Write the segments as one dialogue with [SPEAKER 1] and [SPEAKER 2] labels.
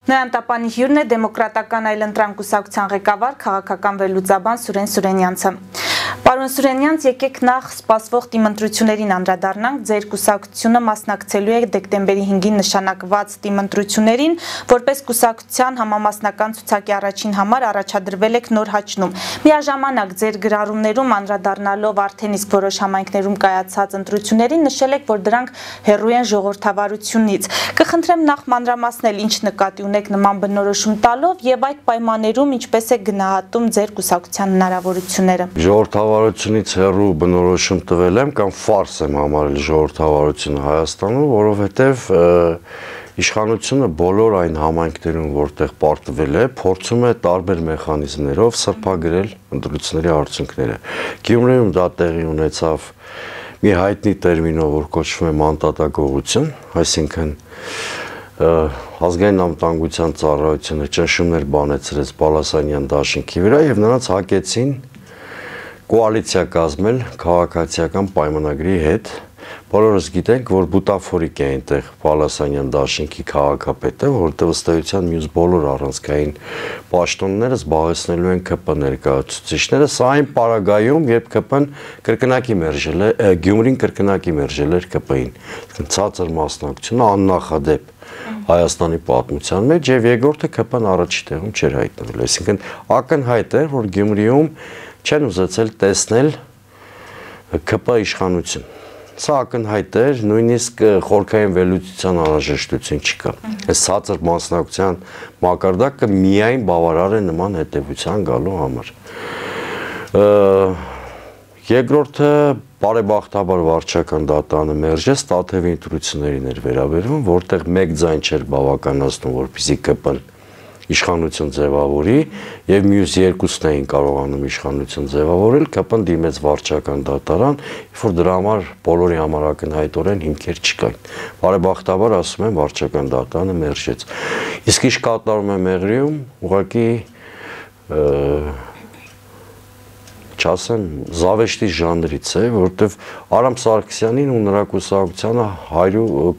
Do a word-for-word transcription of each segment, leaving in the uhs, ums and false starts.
[SPEAKER 1] Նոյան տապանի հյուրն է դեմոկրատական այլընտրանք կուսակցության ղեկավար քաղաքական վերլուծաբան Սուրեն Սուրենյանցը։ Պարոն Սուրենյանց, եկեք նախ սպասվող տիմընտրություններին անդրադառնանք։ Ձեր կուսակցությունը մասնակցելու է դեկտեմբերի հինգին նշանակված տիմընտրություններին, որպես կուսակցության համամասնական ցուցակի առաջին համար առաջադրվել եք Նոր Հաչնում։ Միաժամանակ ձեր գրառումներում անդրադառնալով արդեն իսկ որոշ համայնքներում կայացած ընտրություններին նշել եք, որ դրանք հեռու են ժողովրդավարությունից։ Կխնդրեմ նախ մանրամասնել ինչ նկատի ունեք նման բնորոշում տալով եւ այդ պայմաններում ինչպես է գնահատում ձեր կուսակցության հնարավորությունները։
[SPEAKER 2] Ժողովրդավարությունից հեռու բնորոշում տվել եմ կամ ֆարս եմ համարել ժողովրդավարությունը Հայաստանում, որովհետեւ իշխանությունը բոլոր այն համայնքներում, որտեղ պարտվել է, փորձում է տարբեր մեխանիզմներով սրբագրել ընտրությունների արդյունքները։ Գյումրիում դա տեղի ունեցավ մի հայտնի տերմինով, որ կոչվում է մանտատագողություն, այսինքն ազգային անվտանգության ծառայությունը ճնշումներ բանեցրեց Բալասանյան դաշինքի վրա եւ նրանց հակեցին կոալիցիա կազմել քաղաքացիական պայմանագրի հետ։ Բոլորս գիտենք, որ բուտաֆորիկ է այնտեղ Բալասանյան դաշինքի քաղաքապետը, որտեղ ըստ էության մյուս բոլոր առանցքային պաշտոնները զբաղեցնելու են ԿՊ ներկայացուցիչները, սա այն պարագայում, երբ ԿՊ-ն կրկնակի մերժել է, Գյումրին կրկնակի մերժել էր ԿՊ-ին։ Ցածր մասնակցությունը աննախադեպ Հայաստանի պատմության մեջ եւ երկրորդը ԿՊ-ն առաջի տեղում չէր հայտնվել։ Այսինքն ակնհայտ էր, որ Գյումրիում չեն ուզեցել տեսնել ԿՊ իշխանություն։ Սա ակնհայտ էր, նույնիսկ խորքային վերլուծության անհրաժեշտություն չկա։ Այս ցածր մասնակցության մակարդակը միայն բավարար է նման հետևության գալու համար։ Երկրորդը բարեբախտաբար վարչական դատանը մերժեց, Տաթևի ընտրություններին էր վերաբերվում, որտեղ մեկ ձայն չէր բավականացնում, որպեսզի ԿՊ-ն իշխանություն ձևավորի եւ մյուս երկուսն էին կարողանում իշխանություն ձևավորել, ԿՊ-ն դիմեց վարչական դատարան, որ դրա համար բոլորի համար ակնհայտորեն հիմքեր չկային։ Բարեբախտաբար ասում են վարչական դատարանը մերժեց։ Իսկ ինչ կատարում է Մեղրիում, ուղղակի չասեմ, զավեշտի ժանրից է, որովհետև Արամ Սարգսյանին ու նրա կուսակցությանը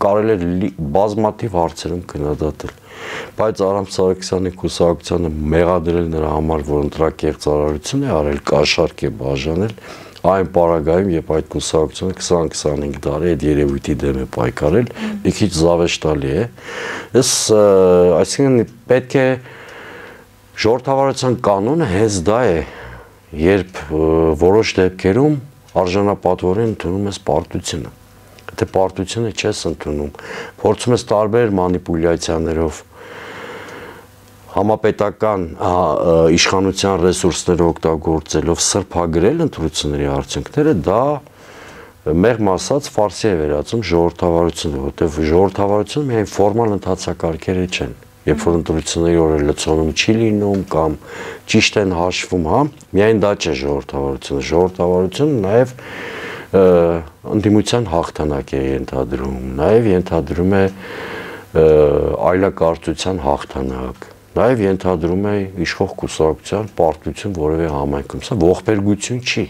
[SPEAKER 2] կարելի է բազմաթիվ հարցերում քննադատել, բայց Արամ Սարգսյանի կուսակցությանը մեղադրել նրա համար, որ ընտրակեղծարարություն է արել, կաշառք է բաժանել, այն պարագայում, երբ այդ կուսակցությունը քսան-քսանհինգ տարի այդ երևույթի դեմ է պայքարել, մի քիչ զավեշտալի է։ Ես, այսինքն պետք է ժողովրդավարության կանոնը հենց դա է, երբ որոշ դեպքերում արժանապատվորեն ընդունում ես պարտությունը, եթե պարտությունը չես ընդունում, փորձում ես տարբեր մանիպուլյացիաներով համապետական իշխանության ռեսուրսները օգտագործելով սրբագրել ընտրությունների արդյունքները, դա մեղմ ասած ֆարսի է վերածում ժողովրդավարությունը, որտեղ ժողովրդավարությունը միայն ֆորմալ ընթացակարգերը չեն։ Երբ որ ընտրությունների օրը լցոնում չի լինում կամ ճիշտ են հաշվում, հա, միայն դա չէ ժողովրդավարությունը, ժողովրդավարությունը նաև ընդդիմության հաղթանակ է ենթադրում, նաև ենթադրում է այլակարծության հաղթանակ, նաև ենթադրում է իշխող կուսակցության պարտություն որևէ համայնքում, սա ողբերգություն չի,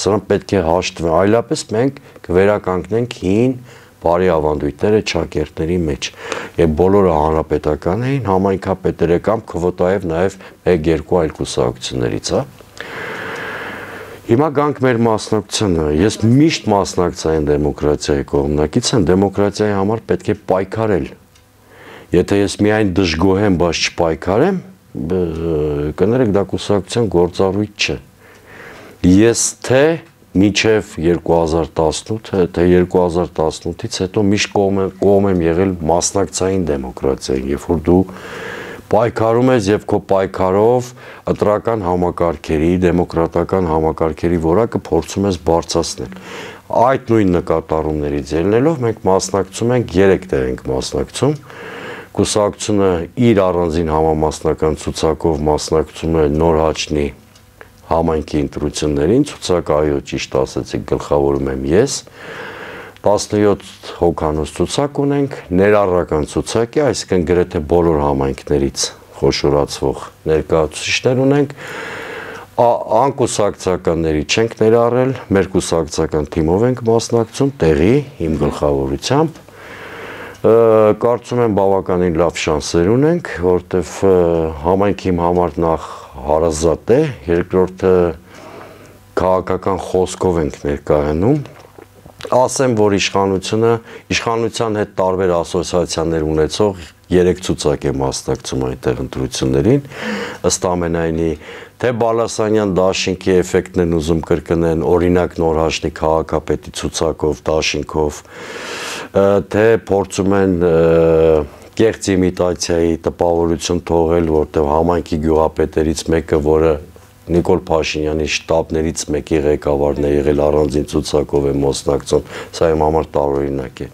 [SPEAKER 2] սրանք պետք է հաշտվեն, այլապես մենք կվերականգնենք հին բարի ավանդույթները ճակերտների մեջ եւ բոլորը հանրապետական էին, համայնքապետերը կամ քվոտայով նաեւ մեկ-երկու այլ կուսակցություններից, հա։ Հիմա գանք մեր մասնակցությանը, ես միշտ մասնակցային դեմոկրատիայի կողմնակից եմ, դեմոկրատիայի համար պետք է պայքարել։ Եթե ես միայն դժգոհեմ, բայց չպայքարեմ, կներեք դա կուսակցության գործառույթ չէ։ Ես թե մինչև երկու հազար տասնութ, թե երկու հազար տասնութից հետո միշտ կողմ եմ եղել մասնակցային դեմոկրատիային, երբ որ դու պայքարում ես եւ քո պայքարով ընտրական համակարգերի, դեմոկրատական համակարգերի որակը փորձում ես բարձրացնել։ Այդ նույն նկատառումներից ելնելով մենք մասնակցում ենք, երեք տեղ ենք մասնակցում։ Կուսակցությունը իր առանձին համամասնական ցուցակով մասնակցում է Նոր Հաչնի համայնքի ընտրություններին, ցուցակը այո ճիշտ ասեցիք, գլխավորում եմ ես, տասնյոթ հոգանոց ցուցակ ունենք, ներառական ցուցակ է, այսինքն գրեթե բոլոր համայնքներից խոշորացվող ներկայացուցիչներ ունենք, անկուսակցականների չենք ներառել, մեր կուսակցական թիմով ենք մասնակցում, տեղի, իմ գլխավորությամբ, Կարծում եմ բավականին լավ շանսեր ունենք, որտեվ համայնքի համար նախ հարազատ է, երկրորդը քաղաքական խոսքով ենք ներկայանում։ Ասեմ, որ իշխանությունը, իշխանության հետ տարբեր ասոցիացիաներ ունեցող երեք ցուցակ է մասնակցում այնտեղ ընտրություններին, ըստ ամենայնի, թե Բալասանյան դաշինքի էֆեկտն են ուզում կրկնեն, օրինակ Նորհաշնի քաղաքապետի ցուցակով, դաշինքով, թե փորձում են կեղծ իմիտացիայի տպավորություն թողել, որտեղ համայնքի գյուղապետերից մեկը, որը Նիկոլ Փաշինյանի շտաբներից մեկի ղեկավարն է եղել, առանձին ցուցակով է մասնակցում, սա իմ համար տարօրինակ է։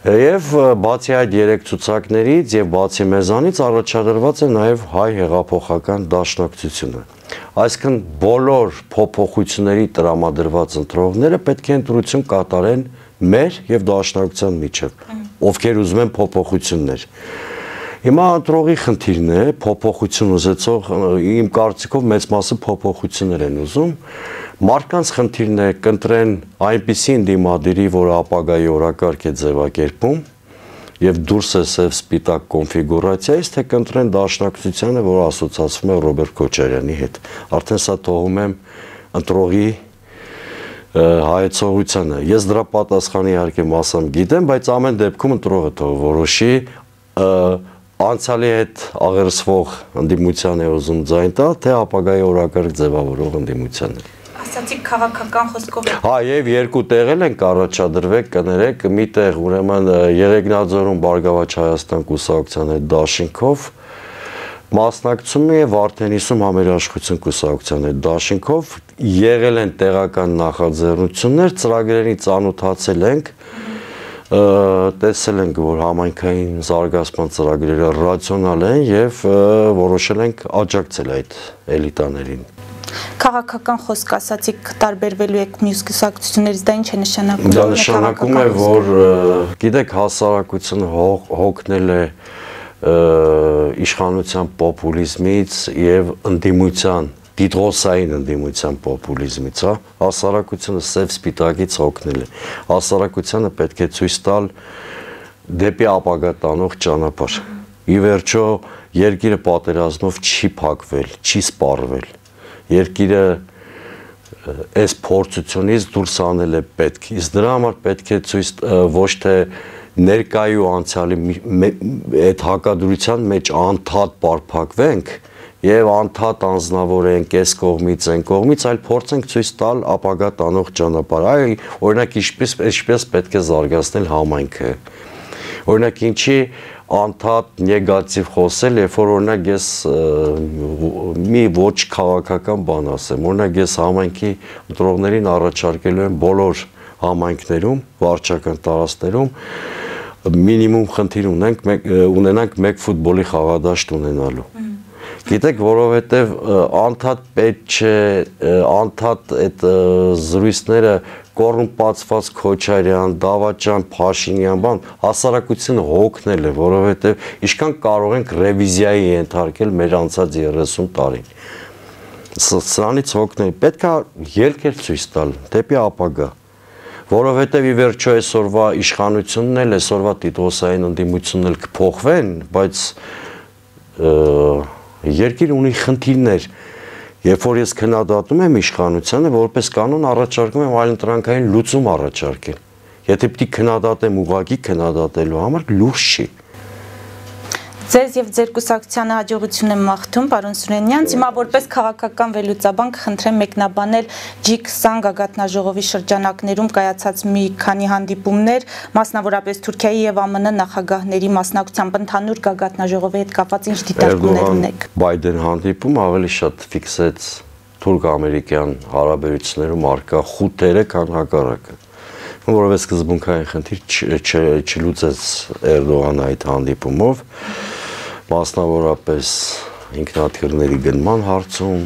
[SPEAKER 2] Եվ բացի այդ երեք ցուցակներից եւ բացի մեզանից առաջադրված է նաեւ հայ հեղափոխական դաշնակցությունը։ Այսինքն բոլոր փոփոխությունների տրամադրված ընտրողները պետք է ընտրություն կատարեն մեր եւ դաշնակցության միջև, ովքեր ուզում են փոփոխություններ։ Հիմա ընտրողի խնդիրն է, փոփոխություն ուզեցող, իմ կարծիքով մեծ մասը փոփոխություններ են ուզում, մարդկանց խնդիրն է կընտրեն այնպիսի ընդդիմադիրի, որը ապագայի օրակարգ է ձևակերպում եւ դուրս է սև սպիտակ կոնֆիգուրացիայից, թե կընտրեն դաշնակցությանը, որը ասոցացվում է Ռոբերտ Քոչարյանի հետ։ Արդեն սա թողում եմ ընտրողի հայեցողությանը։ Ես դրա պատասխանը իհարկե մասամբ գիտեմ, բայց ամեն դեպքում ընտրողը թող որոշի անցյալի հետ աղերսվող ընդդիմության է ուզում ձայն տալ, թե ապագայի օրակարգ ձևավորող ընդդիմության է։
[SPEAKER 1] Ասացիք քաղաքական խոսքով։
[SPEAKER 2] Հա, եւ երկու տեղել ենք առաջադրվեք, կներեք, մի տեղ ուրեմն Երեգնաձորում Բարգավաճ Հայաստան կուսակցության հետ դաշինքով մասնակցում է Վարդենիսում համերաշխություն կուսակցության հետ դաշինքով եղել են տեղական նախաձեռնություններ, ծրագրերին ծանոթացել ենք, տեսել ենք, որ համայնքային զարգացման ծրագրերը ռացիոնալ են եւ որոշել ենք աջակցել այդ էլիտաներին։
[SPEAKER 1] Քաղաքական խոսք ասացիք տարբերվելու եք մյուս կուսակցություններից, դա ինչ է նշանակում։
[SPEAKER 2] Դա նշանակում է, որ գիտեք, հասարակությունը հոգնել է իշխանության պոպուլիզմից եւ ընդդիմության, դիդրոսային ընդդիմության պոպուլիզմից, հա, հասարակությունը սև սպիտակից հոգնել է։ Հասարակությանը պետք է ցույց տալ դեպի ապագա տանող ճանապարհ։ Ի վերջո, երկիրը պատերազմով չի փակվել, չի սպառվել։ Երկիրը այս փորձությունից դուրս անել է պետք։ Իսկ դրա համար պետք է ցույց ոչ թե ներկայ ու անցյալի այդ հակադրության մեջ անդադ պարփակվենք եւ անդադ անձնավորենք այս կողմից, այն կողմից, այլ փորձենք ցույց տալ ապագա տանող ճանապարհ։ Այ օրինակ ինչպես ինչպես պետք է զարգացնել համայնքը։ Օրինակ ինչի անդադ նեգատիվ խոսել, երբ որ օրինակ ես մի ոչ քաղաքական բան ասեմ, օրինակ ես համայնքի ընտրողներին առաջարկելու եմ բոլոր համայնքներում, վարչական տարածքներում մինիմում խնդիր ունենք, ունենանք մեկ ֆուտբոլի խաղադաշտ ունենալու։ Գիտեք, որովհետև անդադ պետք չէ, անդադ այդ զրույցները կոռումպացված Քոչարյան, Դավաճան, Փաշինյան, բան, հասարակությունը հոգնել է, որովհետև ինչքան կարող ենք ռևիզիայի ենթարկել մեր անցած երեսուն տարին։ Սրանից հոգնել, պետք է ելքեր ցույց տալ դեպի ապագա, որովհետև ի վերջո այսօրվա իշխանությունն էլ, այսօրվա տիտղոսային ընդդիմությունն էլ կփոխվեն, բայց երկիրը ունի խնդիրներ, երբ որ ես քննադատում եմ իշխանությանը, որպես կանոն առաջարկում եմ այլընտրանքային լուծում առաջարկել։ Եթե պիտի քննադատեմ ուղղակի քննադատելու համար, լուրջ չի։
[SPEAKER 1] Ձեզ եւ ձեր կուսակցությանը հաջողություն եմ մաղթում, պարոն Սուրենյան։ Հիմա որպես քաղաքական վերլուծաբան կխնդրեմ մեկնաբանել ջի քսան գագաթնաժողովի շրջանակներում կայացած մի քանի հանդիպումներ, մասնավորապես Թուրքիայի եւ ԱՄՆ նախագահների մասնակցությամբ ընդհանուր գագաթնաժողովի հետ կապված ինչ դիտարկումներ ունեք։
[SPEAKER 2] Բայդեն հանդիպում ավելի շատ ֆիքսեց թուրք-ամերիկյան հարաբերություններում առկա խութերը, քան հակառակը։ Որովհետև սկզբունքային խնդիր չլուծեց Էրդողանը այդ հանդիպումով, մասնավորապես ինքնաթիռների գնման հարցում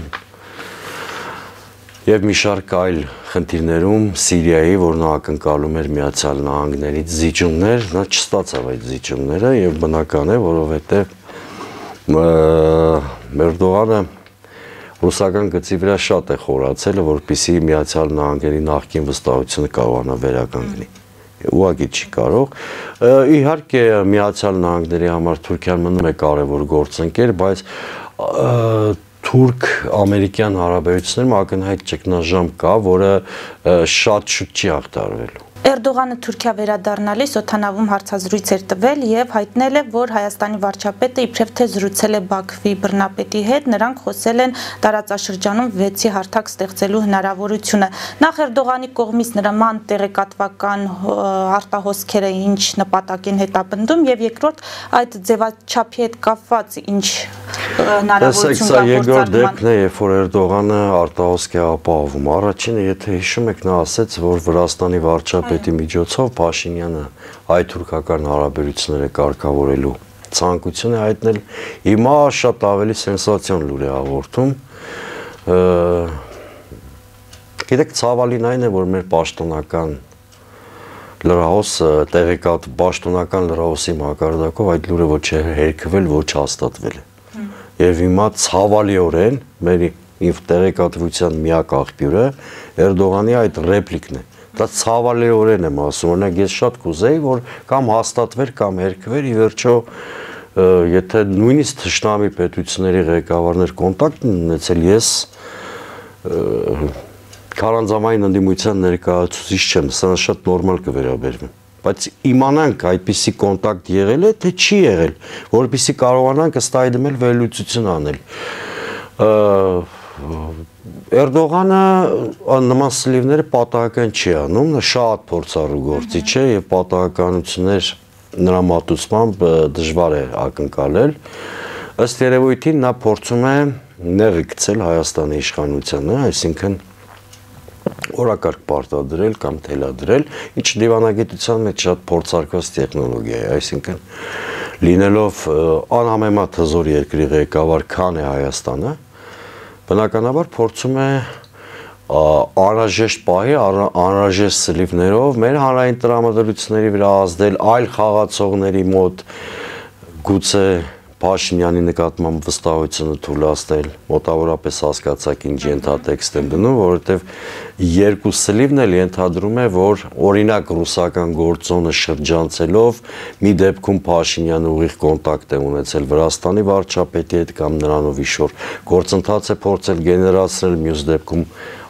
[SPEAKER 2] եւ մի շարք այլ խնդիրներում Սիրիայի, որ նա ակնկալում էր Միացյալ Նահանգներից զիջումներ, նա չստացավ այդ զիջումները եւ բնական է, որովհետեւ Էրդողանը ռուսական գծի վրա շատ է խորացել, որպեսզի Միացյալ Նահանգների նախկին վստահությունը կարողանա վերականգնի։ ուղղակի չի կարող։ Իհարկե Միացյալ Նահանգների համար Թուրքիան մնում է կարևոր գործընկեր, բայց թուրք-ամերիկյան հարաբերություններում ակնհայտ ճգնաժամ կա, որը շատ շուտ չի ախտարվելու։
[SPEAKER 1] Էրդողանը Թուրքիա վերադառնալիս օդանավում հարցազրույց էր տվել եւ հայտնել է, որ Հայաստանի վարչապետը իբրև թե զրուցել է Բաքվի բռնապետի հետ, նրանք խոսել են տարածաշրջանում վեցի հարթակ ստեղծելու հնարավորությունը։ Նախ Էրդողանի կողմից նման տեղեկատվական արտահոսքերը ինչ նպատակ են հետապնդում եւ երկրորդ այդ ձևաչափի հետ կապված ինչ հնարավորություն կա
[SPEAKER 2] երկրորդ դեպքն է, երբ որ Էրդողանը արտահոսք է ապահովում։ Առաջինը, եթե հիշում եք, նա ասաց, որ Վրաստանի վարչապետի միջոցով Փաշինյանը հայ-թուրքական հարաբերությունները կարգավորելու ցանկություն է հայտնել, հիմա շատ ավելի սենսացիոն լուր է հաղորդում։ Գիտեք, ցավալին այն է, որ մեր պաշտոնական լրահոսը, տեղեկատ պաշտոնական լրահոսի մակարդակով այդ լուրը ոչ է հերքվել, ոչ հաստատվել է։ Եվ հիմա ցավալիորեն մեր տեղեկատվության միակ աղբյուրը Էրդողանի այդ ռեպլիկն է։ Դա ցավալիորեն եմ ասում, օրինակ ես շատ կուզեի, որ կամ հաստատվեր, կամ հերքվեր, ի վերջո, եթե նույնիսկ թշնամի պետությունների ղեկավարներ կոնտակտ ունեցել, ես քարանձավային ընդդիմության ներկայացուցիչ չեմ, սա շատ նորմալ կվերաբերվի։ Բայց իմանանք այդպիսի կոնտակտ եղել է, թե չի եղել, որպեսզի կարողանանք ըստ այդմ էլ վերլուծություն անել։ Էրդողանը նման սլիվները պատահական չի անում, նա շատ փորձառու գործիչ է եւ պատահականություններ նրա մատուցմամբ դժվար է ակնկալել։ Ըստ երևույթին նա փորձում է նեղի գցել Հայաստանի իշխանությանը, այսինքն օրակարգ պարտադրել կամ թելադրել, ինչ դիվանագիտության մեջ շատ փորձարկված տեխնոլոգիա է, այսինքն լինելով անհամեմատ հզոր երկրի ղեկավար, քան է Հայաստանը, բնականաբար փորձում է անհրաժեշտ պահի, անհրաժեշտ սլիվներով մեր հանրային տրամադրությունների վրա ազդել, այլ խաղացողների մոտ գուցե Փաշինյանի նկատմամբ վստահությունը թույլատնել, մոտավորապես հասկացաք ինչ ենթատեքստ եմ դնում, որովհետև երկու սլիվն էլ ենթադրում է, որ օրինակ ռուսական գործոնը շրջանցելով մի դեպքում Փաշինյանը ուղիղ կոնտակտ է ունեցել Վրաստանի վարչապետի հետ կամ նրանով ինչ-որ գործընթաց է փորձել գեներացնել, մյուս դեպքում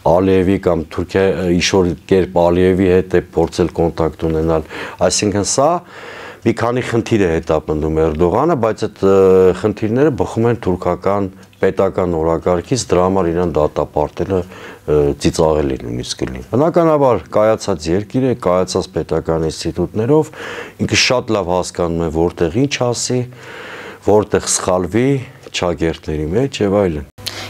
[SPEAKER 2] Ալիևի կամ Թուրքիա ինչ-որ կերպ Ալիևի հետ է փորձել կոնտակտ ունենալ, այսինքն սա մի քանի խնդիր է հետապնդում Էրդողանը, բայց այդ խնդիրները բխում են թուրքական պետական օրակարգից, դրա համար իրան դատապարտելը ծիծաղելի նույնիսկ կլինի։ Բնականաբար կայացած երկիր է, կայացած պետական ինստիտուտներով, ինքը շատ լավ հասկանում է որտեղ ինչ ասի, որտեղ սխալվի ճակերտների մեջ եւ այլն։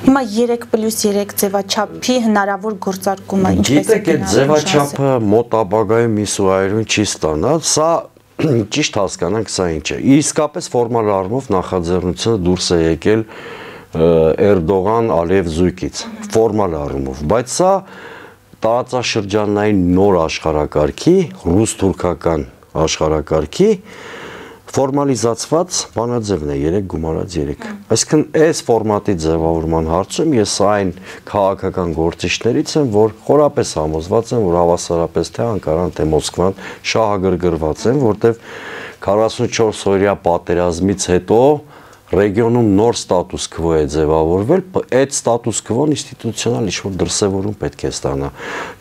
[SPEAKER 1] Հիմա երեք պլյուս երեք ձևաչափի հնարավոր գործարկումը ինչպես է
[SPEAKER 2] գնալու։ Գիտեք, այդ ձևաչափը մոտ ապագայում միսուայրուն չի ստանա, սա ճիշտ հասկանանք սա ինչ է։ Իսկապես ֆորմալ առումով նախաձեռնությունը դուրս է եկել Էրդողան-Ալիև զույգից, ֆորմալ առումով, բայց սա տարածաշրջանային նոր աշխարհակարգի, ռուս-թուրքական աշխարհակարգի ֆորմալիզացված բանաձևն է երեք գումարած երեք։ Այսինքն այս ֆորմատի ձևավորման հարցում ես այն քաղաքական գործիչներից եմ, որ խորապես համոզված եմ, որ հավասարապես թե Անկարան, թե Մոսկվան շահագրգռված են, որտեղ քառասունչորս օրյա պատերազմից հետո ռեգիոնում նոր ստատուս քվո է ձևավորվել, այդ ստատուս քվոն ինստիտուցիոնալ ինչ-որ դրսևորում պետք է ստանա։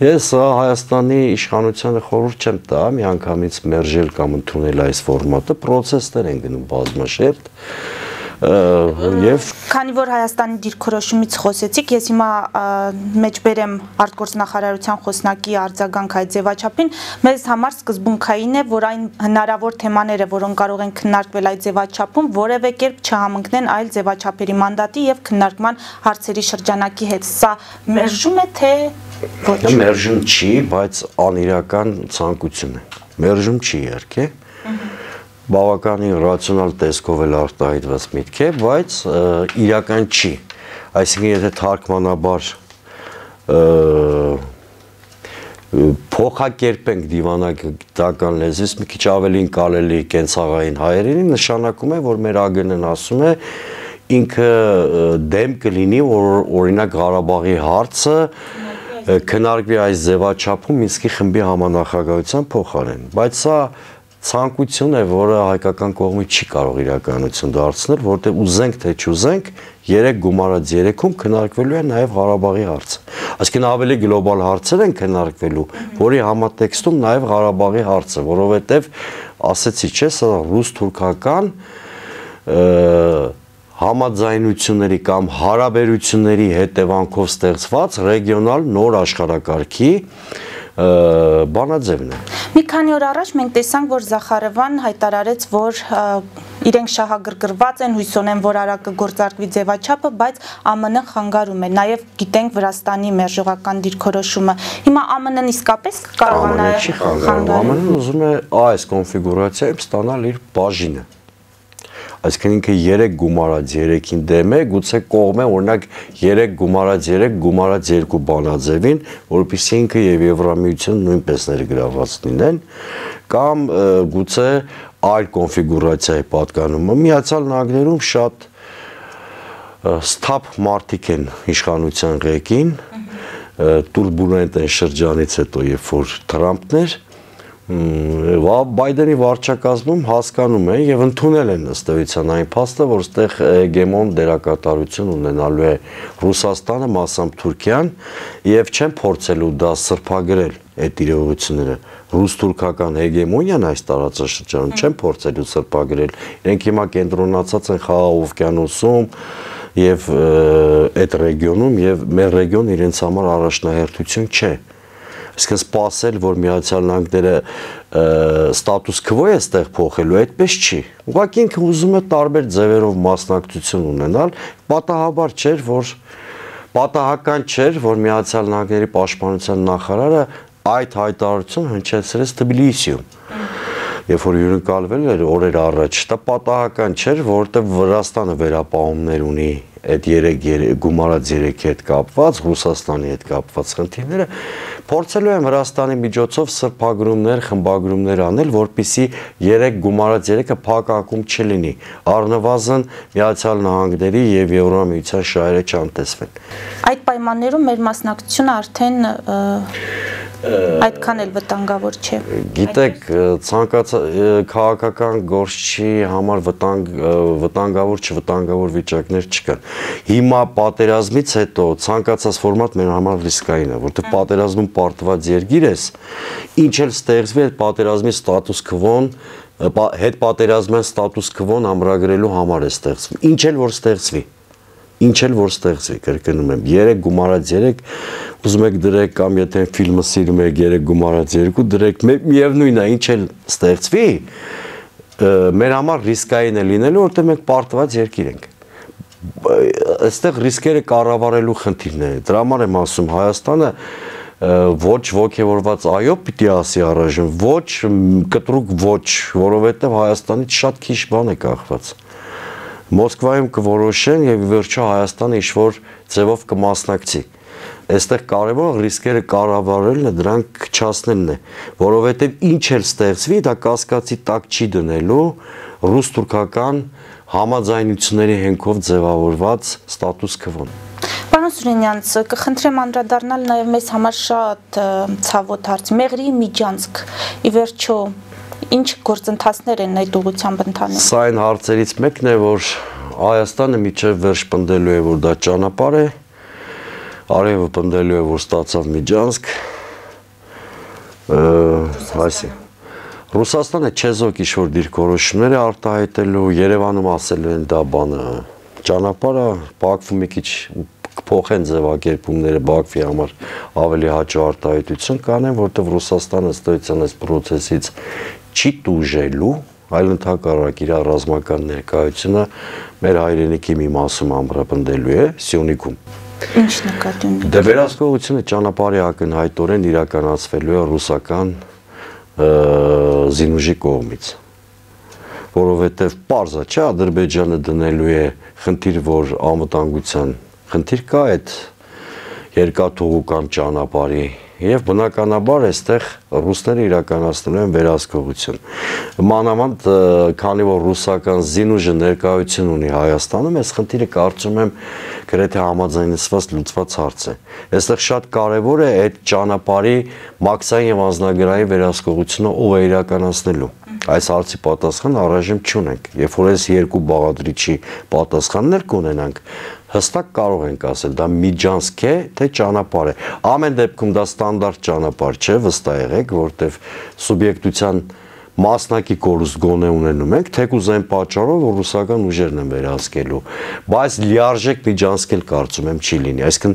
[SPEAKER 2] Ես Հայաստանի իշխանությանը խորհուրդ չեմ տա միանգամից մերժել կամ ընդունել այս ֆորմատը, պրոցեսներ են գնում բազմաշերտ, եւ
[SPEAKER 1] քանի որ Հայաստանի դիրքորոշումից խոսեցիք, ես հիմա մեջբերեմ արտգործնախարարության խոսնակի արձագանք այդ ձևաչափին, մեզ համար սկզբունքային է, որ այն հնարավոր թեմաները, որոնք կարող են քննարկվել այդ ձևաչափում, որևէ կերպ չհամընկնեն այլ ձևաչափերի մանդատի եւ քննարկման հարցերի շրջանակի հետ։ Սա մերժում է թե ոչ։
[SPEAKER 2] Մերժում չի, բայց անիրական ցանկություն է։ Մերժում չի իհարկե։ Բավականին ռացիոնալ տեսքով էլ արտահայտված միտք է, բայց իրական չի։ Այսինքն եթե թարգմանաբար փոխակերպենք դիվանագիտական լեզվից մի քիչ ավելի կարելի կենցաղային հայերենի, նշանակում է, որ մեր ԱԳՆ-ն ասում է ինքը դեմ կլինի, որ օրինակ Ղարաբաղի հարցը քննարկվի այս ձևաչափում Մինսկի խմբի համանախագահության փոխարեն, բայց սա ցանկություն է, որը հայկական կողմից չի կարող իրականություն դարձնել, որտեղ ուզենք թե չուզենք, երեք գումարած երեքում քննարկվելու է նաև Ղարաբաղի հարցը։ Այսինքն ավելի գլոբալ հարցեր են քննարկվելու, որի համատեքստում նաև Ղարաբաղի հարցը, որովհետև ասեցի, չէ, սա ռուս-թուրքական համաձայնությունների կամ հարաբերությունների հետևանքով ստեղծված ռեգիոնալ նոր աշխարհակարգի բանաձևն է։
[SPEAKER 1] Մի քանի օր առաջ մենք տեսանք, որ Զախարովան հայտարարեց, որ իրենք շահագրգռված են, հույս ունեն, որ արագ կգործարկվի ձևաչափը, բայց ԱՄՆ-ն խանգարում է։ Նաև գիտենք Վրաստանի մերժողական դիրքորոշումը։ Հիմա ԱՄՆ-ն իսկապես կարողանա
[SPEAKER 2] խանգարել։ ԱՄՆ-ն ուզում է այս կոնֆիգուրացիայում ստանալ իր բաժինը։ Այսինքն ինքը երեք գումարած երեքին դեմ է, գուցե կողմ է օրինակ երեք գումարած երեք գումարած երկու բանաձևին, որովհետեւ ինքը եւ Եվրամիությունը նույնպես ներգրաված լինեն, կամ գուցե այլ կոնֆիգուրացիայի պատկանումը։ Միացյալ Նահանգներում շատ ստապ մարդիկ են իշխանության ղեկին, տուրբուլենտ են շրջանից հետո, երբ որ Թրամփն էր, Բայդենի վարչակազմում հասկանում են եւ ընդունել են ըստ էության այն փաստը, որ այստեղ հեգեմոն դերակատարություն ունենալու է Ռուսաստանը, մասամբ Թուրքիան, եւ չեն փորձելու դա սրբագրել այդ իրողությունները։ Ռուս-թուրքական հեգեմոնիան այս տարածաշրջանում չեն փորձելու սրբագրել։ Իրենք հիմա կենտրոնացած են Խաղաղ օվկիանոսում եւ այդ ռեգիոնում, եւ մեր ռեգիոնը իրենց համար առաջնահերթություն չէ։ Այսինքն սպասել, որ Միացյալ Նահանգները ստատուս քվո է այստեղ փոխելու, այդպես չի։ Ուղղակի ինքը ուզում է տարբեր ձևերով մասնակցություն ունենալ, պատահաբար չէր, որ պատահական չէր, որ Միացյալ Նահանգների պաշտպանության նախարարը այդ հայտարարությունը հնչեցրեց Թբիլիսիում։ Երբ որ հյուրընկալվել էր օրեր առաջ, դա պատահական չէր, որովհետև Վրաստանը վերապահումներ ունի այդ երեք գումարած երեքի հետ կապված, Ռուսաստանի հետ կապված խնդիրները, փորձելու են Վրաստանի միջոցով սրբագրումներ, խմբագրումներ անել, որպեսզի երեք գումարած երեքը փակակում չլինի, առնվազն Միացյալ Նահանգների եւ Եվրամիության շահերը չանտեսվեն։
[SPEAKER 1] Այդ պայմաններում մեր մասնակցությունը արդեն այդքան էլ վտանգավոր չէ։
[SPEAKER 2] Գիտեք, ցանկացած քաղաքական գործչի համար վտանգ վտանգավոր չվտանգավոր վիճակներ չկան։ Հիմա պատերազմից հետո ցանկացած ֆորմատ մեր համար ռիսկային է, որովհետև պատերազմում պարտված երկիր ես, ինչ էլ ստեղծվի այդ պատերազմի ստատուս քվոն, հետ պատերազմյան ստատուս քվոն ամրագրելու համար է ստեղծվում։ Ինչ էլ որ ստեղծվի Ինչ էլ որ ստեղծվի, կրկնում եմ, երեք գումարած երեք, ուզում եք դրեք կամ եթե ֆիլմը սիրում եք երեք գումարած երկու, դրեք միևնույնն է, ինչ էլ ստեղծվի, մեր համար ռիսկային է լինելու, որտեղ մենք պարտված երկիր ենք։ Այստեղ ռիսկերը կառավարելու խնդիրներ է։ Դրա համար եմ ասում, Հայաստանը ոչ ոգևորված այո պիտի ասի առայժմ, ոչ կտրուկ ոչ, որովհետև Հայաստանից շատ քիչ բան է կախված։ Մոսկվայում կորոշեն եւ վերջո Հայաստանը ինչ-որ ձևով կմասնակցի։ Այստեղ կարևորը ռիսկերը կառավարելն է, դրանք քչացնելն է, որովհետեւ ինչ էլ ստեղծվի, դա կասկածի տակ չի դնելու ռուս-թուրքական համաձայնությունների հենքով ձևավորված ստատուս քվոն։
[SPEAKER 1] Պարոն Սուրենյանց, կխնդրեմ անդրադառնալ նաեւ մեզ համար շատ ցավոտ հարց՝ Մեղրի Միջանցք։ Ի վերջո ինչ գործընթացներ են այդ ուղղությամբ ընթանում։
[SPEAKER 2] Սա այն հարցերից մեկն է, որ Հայաստանը միջև վերջ պնդելու է, որ դա ճանապարհ է, արևը պնդելու է, որ ստացավ Միջանցք, այսի։ Ռուսաստանը չեզոք ինչ-որ դիրքորոշումներ է արտահայտելու, Երևանում ասելու են դա բանը ճանապարհը, Բաքվում մի քիչ կփոխեն ձևակերպումները Բաքվի համար ավելի հաճո արտահայտություն կանեն, որտեղ Ռուսաստանը ըստ էության այս process-ից չի տուժելու, այլ ընդհակառակ իր ռազմական ներկայությունը մեր հայրենիքի մի մասում ամրապնդելու է Սյունիքում։
[SPEAKER 1] Ինչ նկատի ունի։
[SPEAKER 2] Դե վերահսկողությունը ճանապարհի ակնհայտորեն իրականացվելու է ռուսական զինուժի կողմից, որովհետև պարզ է, չէ, Ադրբեջանը դնելու է խնդիր, որ անվտանգության խնդիր կա այդ երկաթուղու կամ ճանապարհի եւ բնականաբար այստեղ ռուսները իրականացնում են վերահսկողություն։ Մանավանդ քանի որ ռուսական զինուժը ներկայություն ունի Հայաստանում, այս խնդիրը կարծում եմ գրեթե համաձայնեցված լուծված հարց է։ Այստեղ շատ կարևոր է այդ ճանապարհի մաքսային եւ անձնագրային վերահսկողությունը ով է իրականացնելու։ Այս հարցի պատասխան առայժմ չունենք։ Երբ որ այս երկու բաղադրիչի պատասխաններ կունենանք, հստակ կարող ենք ասել, դա միջանցք է, թե ճանապարհ է։ Ամեն դեպքում դա ստանդարտ ճանապարհ չէ, վստահ եղեք, որտեվ սուբյեկտության մասնակի կորուստ գոնե ունենում ենք, թեկուզ այն պատճառով, որ ռուսական ուժերն են վերահսկելու, բայց լիարժեք միջանցքել կարծում եմ չի լինի, այսինքն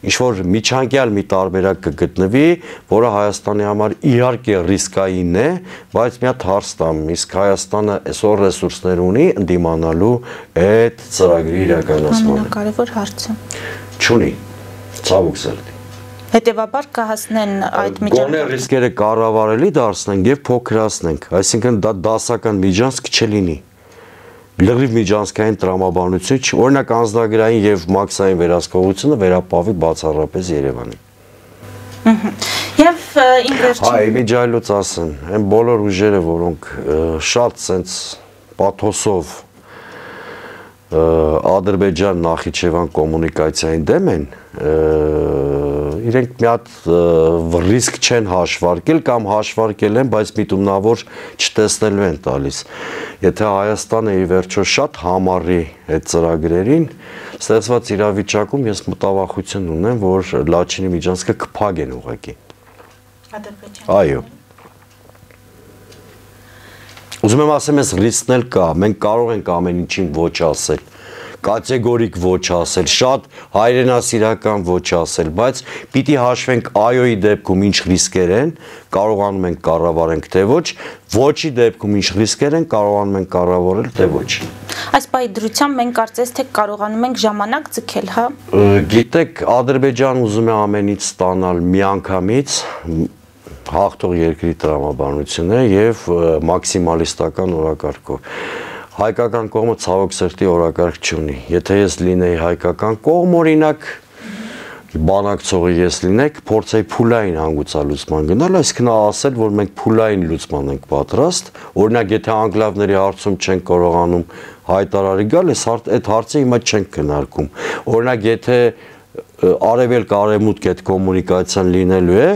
[SPEAKER 2] ինչ-որ միջանկյալ մի տարբերակ կգտնվի, որը Հայաստանի համար իհարկե ռիսկային է, բայց մի հատ հարց տամ, իսկ Հայաստանը այսօր ռեսուրսներ ունի ընդդիմանալու այդ ծրագրի իրականացմանը։
[SPEAKER 1] Ամենակարևոր հարցը։
[SPEAKER 2] Չունի, ցավոք սրտի։
[SPEAKER 1] Հետևաբար կհասնեն այդ
[SPEAKER 2] միջանցքը։ Գոնե ռիսկերը կառավարելի դարձնենք եւ փոքրացնենք, այսինքն դա դասական միջանցք չլինի։ Լրիվ միջանցքային տրամաբանություն չի, օրինակ անձնագրային եւ մաքսային վերահսկողությունը վերապահվի բացառապես Երևանին։
[SPEAKER 1] Եվ իմ վերջին
[SPEAKER 2] Այ միջայլոց ասեմ, այն բոլոր ուժերը, որոնք շատ սենց պաթոսով Ադրբեջան Նախիջևան կոմունիկացիային դեմ են, իրենք մի հատ ռիսկ չեն հաշվարկել կամ հաշվարկել են, բայց միտումնավոր չտեսնելու են տալիս։ Եթե Հայաստանը ի վերջո շատ համառի այդ ծրագրերին, ստեղծված իրավիճակում ես մտավախություն ունեմ, որ Լաչինի միջանցքը կփակեն ուղղակի։
[SPEAKER 1] Ադրբեջան։
[SPEAKER 2] Այո։ Ուզում եմ ասեմ, այս ռիսկն էլ կա, մենք կարող ենք ամեն ինչին ոչ ասել, կատեգորիկ ոչ ասել, շատ հայրենասիրական ոչ ասել, բայց պիտի հաշվենք այոյի դեպքում ինչ ռիսկեր են, կարողանում ենք կառավարենք թե ոչ, ոչի դեպքում ինչ ռիսկեր են, կարողանում ենք կառավարել թե ոչ։
[SPEAKER 1] Այս պահի դրությամբ մենք կարծես թե կարողանում ենք ժամանակ ձգել, հա։
[SPEAKER 2] Գիտեք, Ադրբեջան ուզում է ամենից ստանալ միանգամից հաղթող երկրի տրամաբանությունը եւ մաքսիմալիստական օրակարգով։ Հայկական կողմը ցավոք սրտի օրակարգ չունի։ Եթե ես լինեի հայկական կողմ, օրինակ բանակցողի ես լինեք, փորձեի փուլային հանգուցալուծման գնալ, այսինքն ասել, որ մենք փուլային լուծման ենք պատրաստ, օրինակ եթե անկլավների հարցում չեն կարողանում հայտարարի գալ, այդ հարցը հիմա չենք քննարկում։ Օրինակ եթե արևելք արևմուտք այդ կոմունիկացիան լինելու է,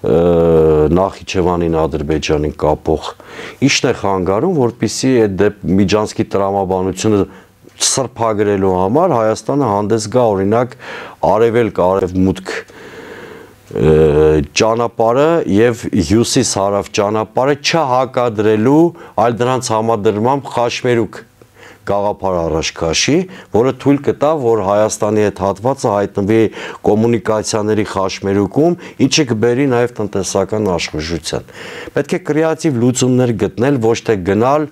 [SPEAKER 2] Նախիջևանին Ադրբեջանին կապող ի՞նչն է խանգարում, որպեսզի այդ միջանցքի տրամաբանությունը սրբագրելու համար Հայաստանը հանդես գա օրինակ արևելք արևմուտք ճանապարհը եւ հյուսիս-հարավ ճանապարհը չհակադրելու, այլ դրանց համադրմամբ Խաշմերուկ գաղափար առաջ քաշի, որը թույլ կտա, որ Հայաստանի այդ հատվածը հայտնվի կոմունիկացիաների խաշմերուկում, ինչը կբերի նաև տնտեսական աշխուժության։ Պետք է կրեատիվ լուծումներ գտնել, ոչ թե գնալ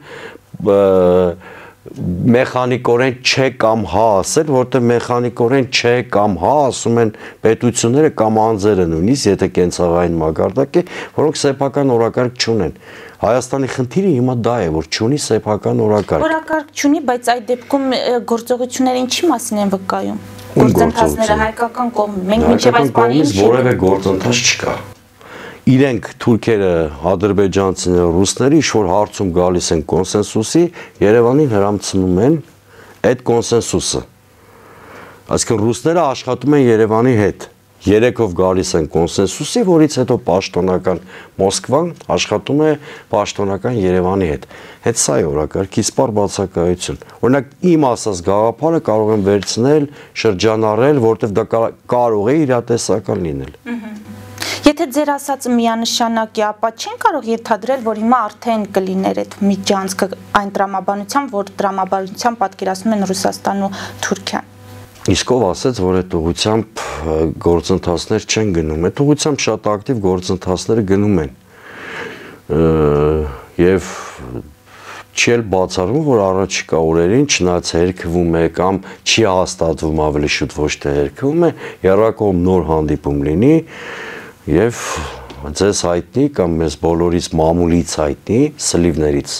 [SPEAKER 2] մեխանիկորեն չէ կամ հա ասել, որտեղ մեխանիկորեն չէ կամ հա ասում են պետությունները կամ անձերը նույնիսկ, եթե կենցաղային մակարդակ է, որոնք սեփական օրակարգ չունեն։ Հայաստանի խնդիրը հիմա դա է, որ չունի սեփական օրակարգ։
[SPEAKER 1] Օրակարգ չունի, բայց այդ դեպքում գործողությունները ինչի մասին են վկայում։ Գործընթացները հայկական կողմը, մենք մինչև այս բանը
[SPEAKER 2] որևէ գործընթաց չկա։ Իրենք թուրքերը, ադրբեջանցիները, ռուսները ինչ-որ հարցում գալիս են կոնսենսուսի, Երևանին հրամցնում են այդ կոնսենսուսը։ Այսինքն ռուսները աշխատում են Երևանի հետ, երեքով գալիս են կոնսենսուսի, որից հետո պաշտոնական Մոսկվան աշխատում է պաշտոնական Երևանի հետ։ Հետ սա է օրակարգի սպառ բացակայություն։ Օրինակ իմ ասած գաղափարը կարող եմ վերցնել, շրջանառել, որտեղ դա կարող է իրատեսական լինել։
[SPEAKER 1] Եթե ձեր ասածը միանշանակ է, ապա չեն կարող ենթադրել, որ հիմա արդեն կլիներ այդ միջանցքը այն տրամաբանությամբ, որ տրամաբանությամբ պատկերացնում են Ռուսաստանն ու Թուրքիան։
[SPEAKER 2] Իսկ ով ասեց, որ այդ ուղղությամբ գործընթացներ չեն գնում։ Այդ ուղղությամբ շատ ակտիվ գործընթացները գնում են։ Եվ չի էլ բացառվում, որ առաջիկա օրերին չնայած հերքվում է կամ չի հաստատվում ավելի շուտ ոչ թե հերքվում է, երրակողմ նոր հանդիպում լինի եւ ձեզ հայտնի կամ մեզ բոլորից մամուլից հայտնի սլիվներից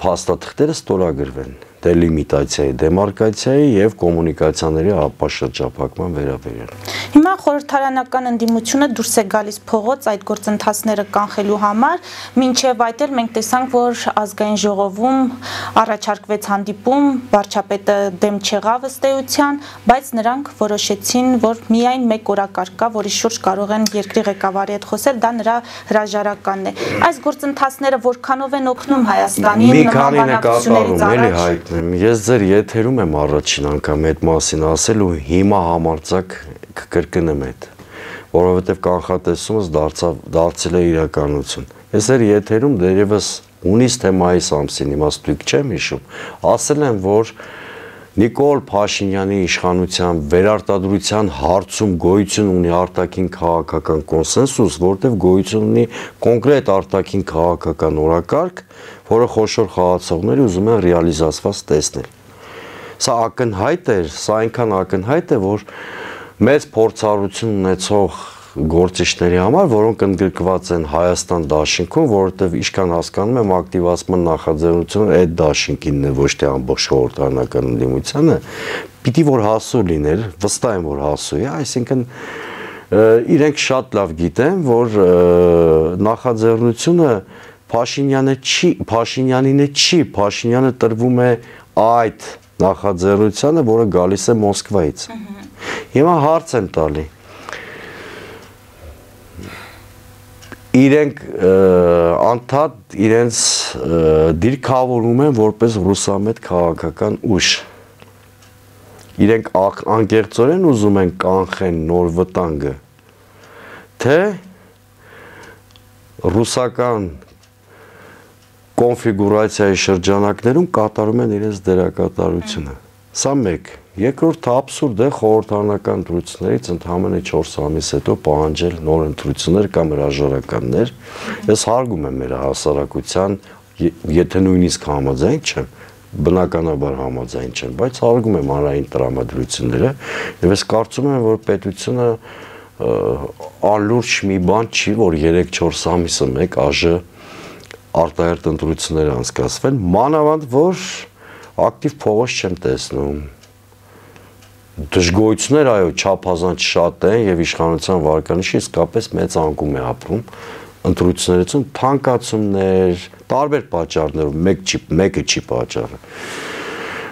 [SPEAKER 2] փաստաթղթերը ստորագրվեն դելիմիտացիայի, դեմարկացիայի եւ կոմունիկացիաների ապաշրջափակման վերաբերյալ։
[SPEAKER 1] Հիմա խորհրդարանական ընդդիմությունը դուրս է գալիս փողոց այդ գործընթացները կանխելու համար, մինչև այդ էլ մենք տեսանք, որ ազգային ժողովում առաջարկվեց հանդիպում, վարչապետը դեմ չեղավ ըստ էության, բայց նրանք որոշեցին, որ միայն մեկ օրակարգ կա, որի շուրջ կարող են երկրի ղեկավարի հետ խոսել, դա նրա հրաժարականն է։ Այս գործընթացները որքանով են օգնում Հայաստանին նման բանակցություններից առաջ։
[SPEAKER 2] Ես ձեր եթերում եմ առաջին անգամ այդ մասին ասել ու հիմա համարձակ կկրկնեմ այդ, որովհետև կանխատեսումս դարձել է իրականություն։ Ես էր եթերում դերևս հունիս թե մայիս ամսին, հիմա ստույգ չեմ հիշում, ասել եմ, որ Նիկոլ Փաշինյանի իշխանության վերարտադրության հարցում գոյություն ունի արտաքին քաղաքական կոնսենսուս, որտեղ գոյություն ունի կոնկրետ արտաքին քաղաքական օրակարգ, որը խոշոր խաղացողները ուզում են ռեալիզացված տեսնել։ Սա ակնհայտ է, սա այնքան ակնհայտ է, որ մեծ փորձառություն ունեցող գործիչների համար, որոնք ընդգրկված են Հայաստան դաշինքում, որովհետև ինչքան հասկանում եմ, ակտիվացման նախաձեռնությունը այդ դաշինքինն է, ոչ թե ամբողջ խորհրդարանական ընդդիմությանը, պիտի որ հասու լիներ, վստահ եմ, որ հասու է, այսինքն իրենք շատ լավ գիտեն, որ նախաձեռնությունը Փաշինյանը չի, Փաշինյանին չի, Փաշինյանը տրվում է այդ նախաձեռնությանը, որը գալիս է Մոսկվայից։ Հիմա հարց եմ տալի։ Իրենք անդադ իրենց դիրքավորում են որպես ռուսամետ քաղաքական ուժ։ Իրենք անկեղծորեն ուզում են կանխեն նոր վտանգը, թե ռուսական կոնֆիգուրացիայի շրջանակներում կատարում են իրենց դերակատարությունը։ Սա մեկ։ Երկրորդ աբսուրդ է խորհրդարանական ընտրություններից ընդամենը չորս ամիս հետո պահանջել նոր ընտրություններ կամ հրաժարականներ։ Ես հարգում եմ մեր հասարակության, եթե նույնիսկ համաձայն չեմ, բնականաբար համաձայն չեմ, բայց հարգում եմ հանրային տրամադրությունները, եւ ես կարծում եմ, որ պետությունը անլուրջ մի բան չի, որ երեք-չորս ամիսը մեկ ԱԺ արտահերթ ընտրություններ անցկացվեն, մանավանդ որ ակտիվ փողոց չեմ տեսնում։ Դժգոհություններ, այո, չափազանց շատ են եւ իշխանության վարկանիշը իսկապես մեծ անկում է ապրում ընտրություններից թանկացումներ, տարբեր պատճառներով, մեկ չի, մեկը չի պատճառը։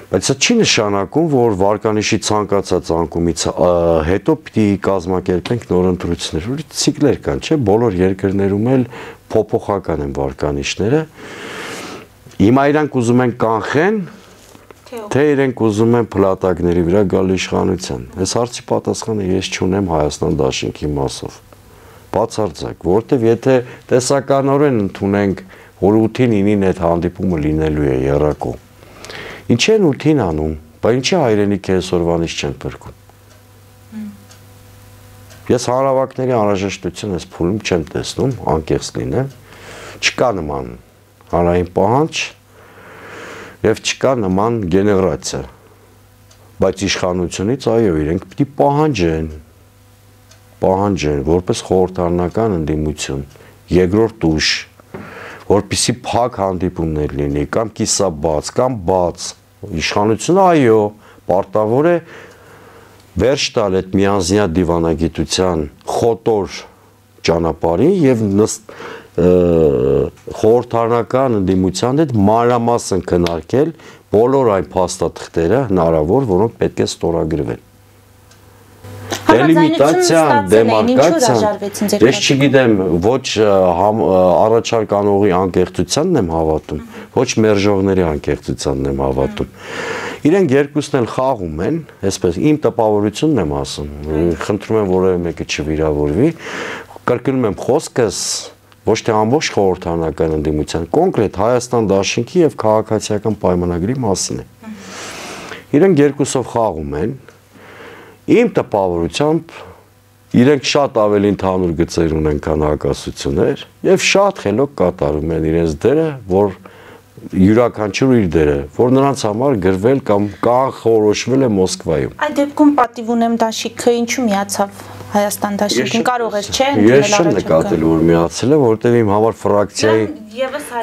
[SPEAKER 2] Բայց սա չի նշանակում, որ վարկանիշի ցանկացած անկումից հետո պիտի կազմակերպենք նոր ընտրություններ, որ ցիկլեր կան, չէ՞, բոլոր երկրներում էլ փոփոխական են վարկանիշները։ Հիմա իրանք ուզում են կանխեն, թե իրենք ուզում են փլատակների վրա գալ իշխանության։ Այս հարցի պատասխանը ես չունեմ Հայաստան դաշինքի մասով։ Բացարձակ, որովհետև եթե տեսականորեն ընդունենք, որ ութին ինին այդ հանդիպումը լինելու է եռակո, ինչ են ութին անում, բայց ինչի հայրենիք այսօրվանից չեն փրկում։ Ես հանրավակների անհրաժեշտություն այս փուլում չեմ տեսնում, անկեղծ լինեմ, չկա նման հանրային պահանջ եւ չկա նման գեներացիա, բայց իշխանությունից այո, իրենք պիտի պահանջեն, պահանջեն, որպես խորհրդարանական ընդդիմություն, երկրորդ ուժ, որպեսզի փակ հանդիպումներ լինի, կամ կիսաբաց, կամ բաց, իշխանությունը այո, պարտավոր է վերջ տալ այդ միանձնյա դիվանագիտության խոտոր ճանապարհին եւ խորհրդարանական ընդդիմության հետ մանրամասն քննարկել բոլոր այն փաստաթղթերը հնարավոր, որոնք պետք է ստորագրվեն։ Դելիմիտացիան, դեմարկացիան, ես չգիտեմ, ոչ առաջարկ անողի անկեղծությանն եմ հավատում, ոչ մերժողների անկեղծությանն եմ հավատում։ Իրենք երկուսն էլ խաղում են, այսպես իմ տպավորությունն եմ ասում, խնդրում եմ որևէ մեկը չվիրավորվի, կրկնում եմ խոսքս ոչ թե ամբողջ խորհրդարանական ընդդիմության, կոնկրետ Հայաստան դաշինքի եւ քաղաքացիական պայմանագրի մասին է։ Իրենք երկուսով խաղում են, իմ տպավորությամբ իրենք շատ ավելի ընդհանուր գծեր ունեն, քան հակասություններ եւ շատ խելոք կատարում են իրենց դերը, որ յուրաքանչյուր իր դերը, որ նրանց համար գրվել կամ կանխորոշվել է Մոսկվայում։
[SPEAKER 1] Այդ դեպքում պատիվ ունեմ դաշինքը ինչու միացավ Հայաստան դաշինքին կարող էր, չէ՞,
[SPEAKER 2] ես չեմ նկատել, որ միացել է, որովհետև իմ համար ֆրակցիայի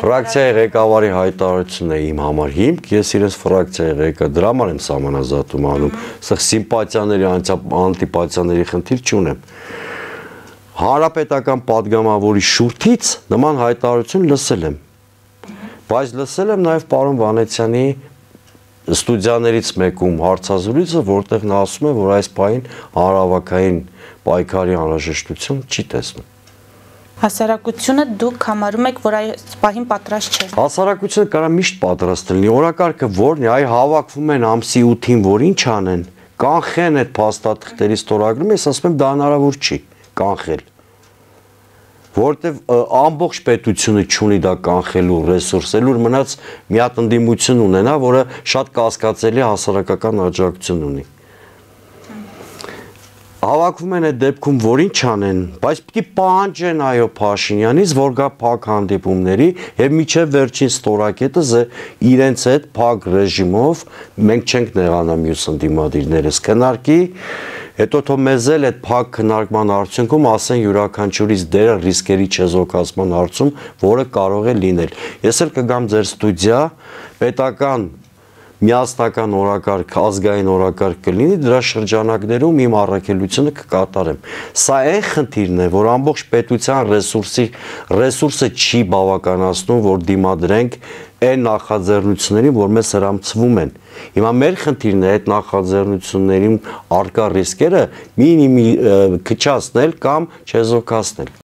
[SPEAKER 2] ֆրակցիայի ղեկավարի հայտարարությունն է իմ համար հիմք, ես իրենց ֆրակցիայի ղեկը դրա համար եմ սահմանազատում անում, սա սիմպաթիաների, անտիպաթիաների խնդիր չունեմ։ Հանրապետական падգամավորի շուրթից նման հայտարարություն լսել եմ, բայց լսել եմ նաև պարոն Վանեցյանի ստուդիաներից մեկում հարցազրույցը, որտեղ նա ասում է, որ այս պահին հանրահավաքային պայքարի անհրաժեշտություն չի տեսնում։
[SPEAKER 1] Հասարակությունը դուք համարում եք, որ այս պահին պատրաստ չէ։
[SPEAKER 2] Հասարակությունը կարա միշտ պատրաստ լինի, օրակարգը որն է, այ հավաքվում են ամսի ութին, որ ինչ անեն, կանխեն այդ փաստաթղթերի ստորագրումը, ես ասում եմ դա հնարավոր չի կանխել։ Որտեվ ամբողջ պետությունը չունի դա կանխելու ռեսուրսելու, մնաց մի հատ ընդդիմություն ունենա, որը շատ կասկածելի հասարակական աջակցություն ունի։ Հավաքվում են այդ դեպքում, որ ինչ անեն, բայց պիտի պահանջեն այո Փաշինյանից, որ գա փակ հանդիպումների եւ միջև վերջին ստորակետը իրենց հետ փակ ռեժիմով մենք չենք նեղանա մյուս ընդդիմադիրներս քննարկի, հետո թող մեզ էլ այդ փակ քննարկման արդյունքում ասեն յուրաքանչյուրից դերը ռիսկերի չեզոքացման հարցում, որը կարող է լինել։ Ես էլ կգամ ձեր ստուդիա, պետական միասնական օրակարգ, ազգային օրակարգ կլինի, դրա շրջանակներում իմ առաքելությունը կկատարեմ։ Սա այն խնդիրն է, որ ամբողջ պետության ռեսուրսի ռեսուրսը չի բավականացնում, որ դիմադրենք այն նախաձեռնություններին, որ մեզ հրամցվում են։ Հիմա մեր խնդիրն է այդ նախաձեռնություններին արկա ռիսկերը մինիմի քչացնել կամ չեզոքացնել։